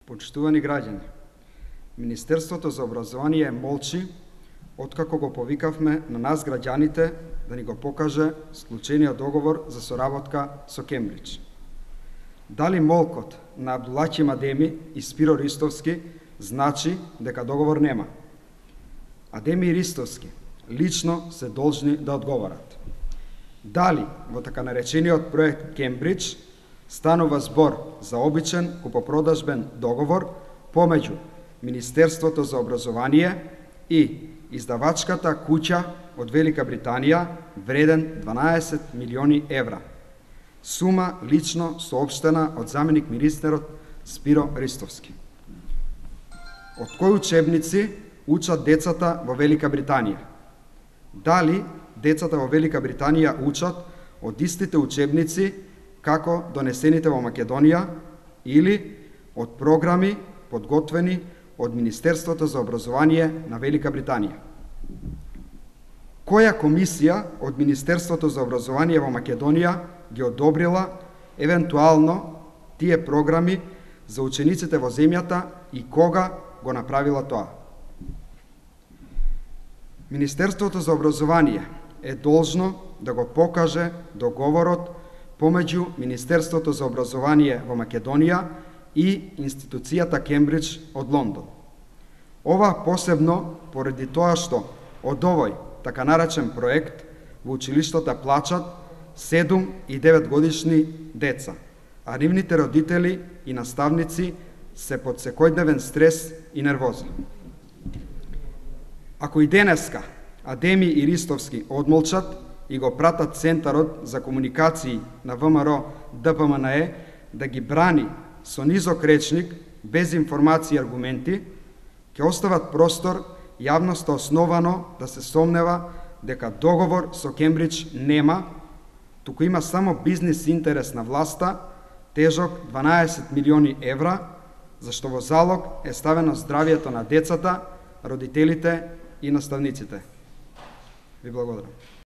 Почитувани граѓани, Министерството за образование молчи откако го повикавме на нас граѓаните да ни го покаже склучениот договор за соработка со Кембридж. Дали молкот на Абдулахи Адеми и Спиро Ристовски значи дека договор нема? Адеми и Ристовски лично се должни да одговорат. Дали во така наречениот проект Кембридж станува збор за обичен купопродажбен договор помеѓу Министерството за образование и издавачката куќа од Велика Британија вреден 12 милиони евра. Сума лично соопштена од заменик министерот Спиро Ристовски. Од кои учебници учат децата во Велика Британија? Дали децата во Велика Британија учат од истите учебници како донесените во Македонија или од програми подготвени од Министерството за образование на Велика Британија? Која комисија од Министерството за образование во Македонија ги одобрила евентуално тие програми за учениците во земјата и кога го направила тоа? Министерството за образование е должно да го покаже договорот помеѓу Министерството за образование во Македонија и институцијата Кембридж од Лондон. Ова посебно поради тоа што од овој така наречен проект во училиштата плачат 7 и 9 годишни деца, а нивните родители и наставници се под секојдневен стрес и нервоза. Ако и денеска Адеми и Ристовски одмолчат и го пратат Центарот за комуникации на ВМРО ДПМНЕ да ги брани со низок речник, без информации и аргументи, ќе остават простор јавноста основано да се сомнева дека договор со Кембридж нема, туку има само бизнис интерес на власта, тежок 12 милиони евра, зашто во залог е ставено здравието на децата, родителите и наставниците. Ви благодарам.